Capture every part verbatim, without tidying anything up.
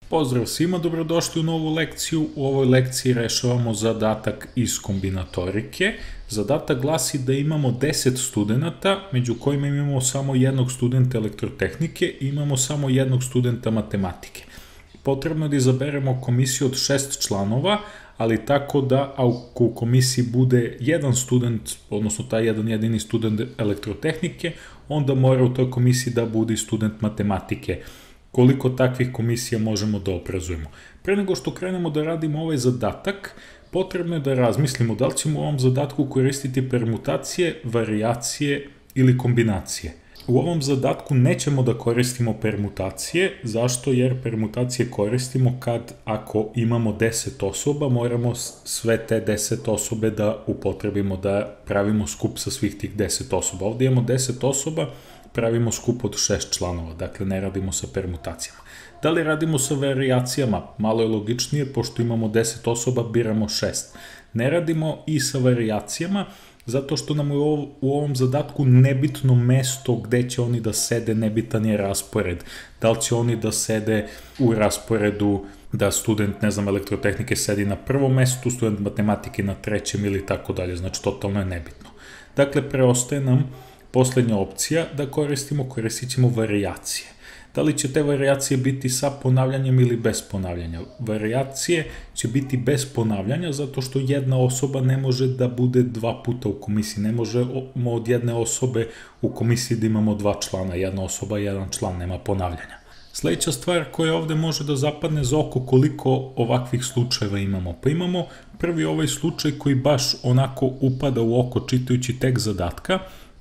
Pozdrav svima, dobrodošli u novu lekciju. U ovoj lekciji rešavamo zadatak iz kombinatorike. Zadatak glasi da imamo deset studenta, među kojima imamo samo jednog studenta elektrotehnike i imamo samo jednog studenta matematike. Potrebno je da izaberemo komisiju od šest članova, ali tako da ako u komisiji bude jedan student, odnosno taj jedan jedini student elektrotehnike, onda mora u toj komisiji da bude i student matematike. Koliko takvih komisija možemo da obrazujemo. Pre nego što krenemo da radimo ovaj zadatak, potrebno je da razmislimo da li ćemo u ovom zadatku koristiti permutacije, varijacije ili kombinacije. U ovom zadatku nećemo da koristimo permutacije. Zašto? Jer permutacije koristimo kad ako imamo deset osoba, moramo sve te deset osobe da upotrebimo, da pravimo skup sa svih tih deset osoba. Ovde imamo deset osoba, pravimo skup od šest članova, dakle ne radimo sa permutacijama. Da li radimo sa varijacijama? Malo je logičnije, pošto imamo deset osoba, biramo šest. Ne radimo i sa varijacijama, zato što nam je u ovom zadatku nebitno mesto gde će oni da sede, nebitan je raspored. Da li će oni da sede u rasporedu da student, ne znam, elektrotehnike sedi na prvom mestu, student matematike na trećem ili tako dalje, znači totalno je nebitno. Dakle, preostaje nam poslednja opcija da koristimo, koristit ćemo varijacije. Da li će te varijacije biti sa ponavljanjem ili bez ponavljanja? Varijacije će biti bez ponavljanja zato što jedna osoba ne može da bude dva puta u komisiji. Ne možemo od jedne osobe u komisiji da imamo dva člana. Jedna osoba, jedan član, nema ponavljanja. Sledeća stvar koja ovde može da zapadne za oko koliko ovakvih slučajeva imamo. Pa imamo prvi ovaj slučaj koji baš onako upada u oko čitajući tekst zadatka,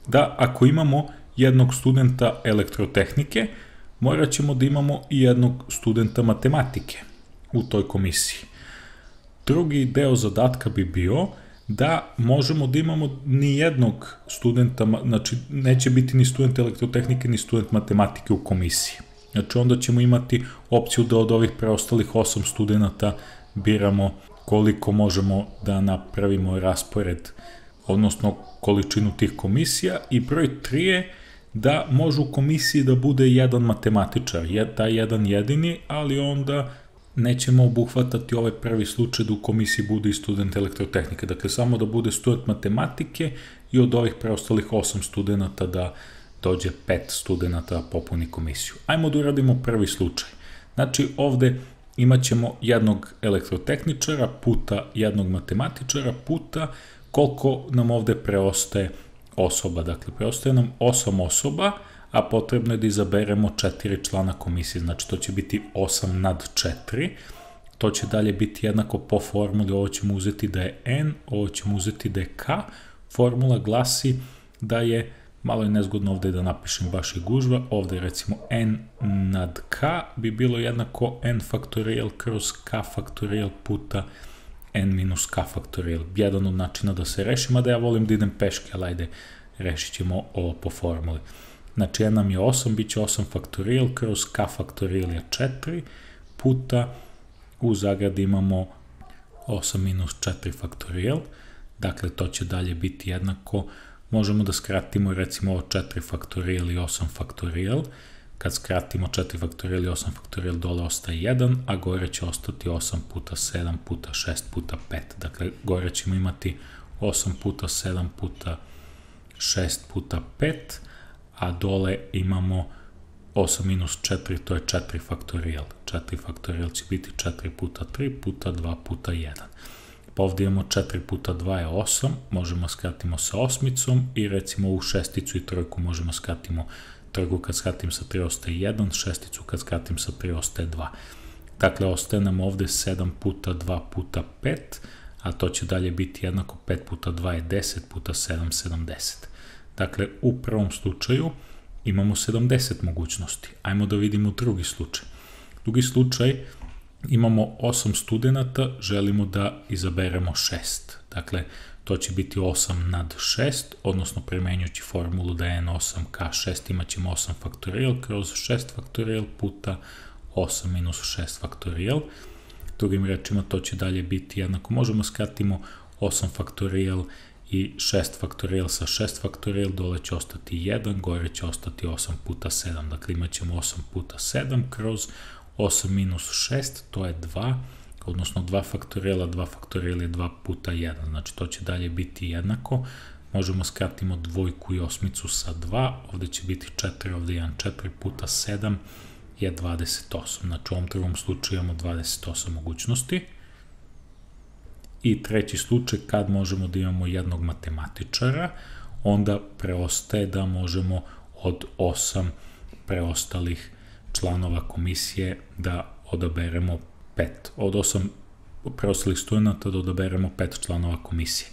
da ako imamo jednog studenta elektrotehnike, morat ćemo da imamo i jednog studenta matematike u toj komisiji. Drugi deo zadatka bi bio da možemo da imamo ni jednog studenta, znači neće biti ni student elektrotehnike ni student matematike u komisiji. Znači onda ćemo imati opciju da od ovih preostalih osam studenta biramo koliko možemo da napravimo raspored, odnosno količinu tih komisija, i broj tri je da može u komisiji da bude jedan matematičar, taj jedan jedini, ali onda nećemo obuhvatati ovaj prvi slučaj da u komisiji bude i student elektrotehnike. Dakle, samo da bude student matematike i od ovih preostalih osam studenta da dođe pet studenta da popuni komisiju. Ajmo da uradimo prvi slučaj. Znači, ovde imat ćemo jednog elektrotehničara puta jednog matematičara puta koliko nam ovde preostaje osoba. Dakle, preostaje nam osam osoba, a potrebno je da izaberemo četiri člana komisije. Znači, to će biti osam nad četiri. To će dalje biti jednako po formuli. Ovo ćemo uzeti da je n, ovo ćemo uzeti da je k. Formula glasi da je, malo je nezgodno ovde da napišem baš i gužva, ovde recimo n nad k bi bilo jednako n faktorijal kroz k faktorijal puta n minus k faktorijal. Jedan od načina da se reši, mada ja volim da idem peške, ali ajde, rešit ćemo ovo po formuli. Znači, n nam je osam, bit će osam faktorijal kroz k faktorijal je četiri, puta u zagradi imamo osam minus četiri faktorijal, dakle to će dalje biti jednako, možemo da skratimo recimo ovo četiri faktorijal i osam faktorijal, kad skratimo četiri faktorijal i osam faktorijal dole ostaje jedan, a gore će ostati osam puta sedam puta šest puta pet. Dakle, gore ćemo imati osam puta sedam puta šest puta pet, a dole imamo osam minus četiri, to je četiri faktorijal. četiri faktorijal će biti četiri puta tri puta dva puta jedan. Pa ovdje imamo četiri puta dva je osam, možemo skratimo sa osmicom i recimo ovu šesticu i trojku možemo skratimo. Trojku kad skratim sa tri ostaje jedan, šesticu kad skratim sa tri ostaje dva. Dakle, ostaje nam ovde sedam puta dva puta pet, a to će dalje biti jednako pet puta dva je deset puta sedam, sedamdeset. Dakle, u prvom slučaju imamo sedamdeset mogućnosti. Ajmo da vidimo drugi slučaj. Drugi slučaj, imamo osam studenta, želimo da izaberemo šest. Dakle, to će biti osam nad šest, odnosno primenjujući formulu da je n osam k šest, imat ćemo osam faktorijal kroz šest faktorijal puta osam minus šest faktorijal. Drugim rečima, to će dalje biti jednako. Možemo skratimo osam faktorijal i šest faktorijal sa šest faktorijal, dole će ostati jedan, gore će ostati osam puta sedam. Dakle, imat ćemo osam puta sedam kroz osam minus šest, to je dva, odnosno dva faktorijela, dva faktorijela je dva puta jedan, znači to će dalje biti jednako. Možemo skratimo dvojku i osmicu sa dva, ovde će biti četiri, ovde jedan, četiri puta sedam je dvadeset osam, znači u ovom drugom slučaju imamo dvadeset osam mogućnosti. I treći slučaj, kad možemo da imamo jednog matematičara, onda preostaje da možemo od osam preostalih članova komisije da odaberemo pet, od osam preostalih studenta da odaberemo pet članova komisije.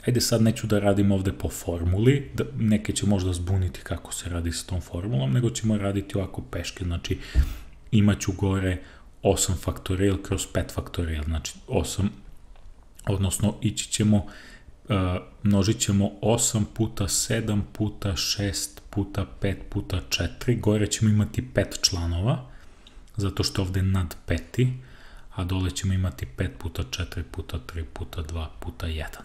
Ajde sad neću da radim ovde po formuli, da neke će možda zbuniti kako se radi sa tom formulom, nego ćemo raditi ovako peške, znači imaću gore osam faktorijel kroz pet faktorijel, znači osam, odnosno ići ćemo, množit ćemo osam puta sedam puta šest puta pet puta četiri, gore ćemo imati pet članova, zato što ovde je nad peti, a dole ćemo imati pet puta četiri puta tri puta dva puta jedan.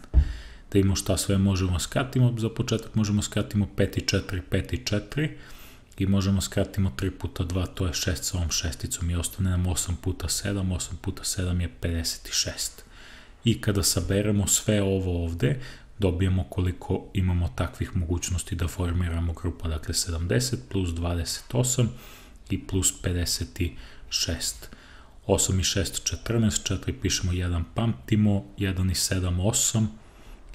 Da imamo šta sve možemo skratimo, za početak možemo skratimo pet i četiri, pet i četiri i možemo skratimo tri puta dva, to je šest sa ovom šesticom i ostane nam osam puta sedam, osam puta sedam je pedeset šest. I kada saberemo sve ovo ovde, dobijemo koliko imamo takvih mogućnosti da formiramo grupa, dakle sedamdeset plus dvadeset osam i plus pedeset šest. osam i šest, četrnaest, četiri pišemo jedan pamtimo, jedan i sedam, osam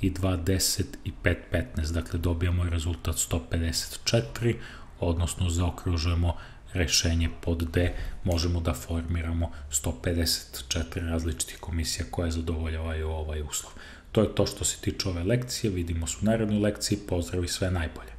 i dva, deset i pet, petnaest, dakle dobijamo rezultat sto pedeset četiri, odnosno zaokružujemo rešenje pod D, možemo da formiramo sto pedeset četiri različitih komisija koje zadovoljavaju ovaj uslov. To je to što se tiče ove lekcije, vidimo se u narednoj lekciji, pozdrav i sve najbolje.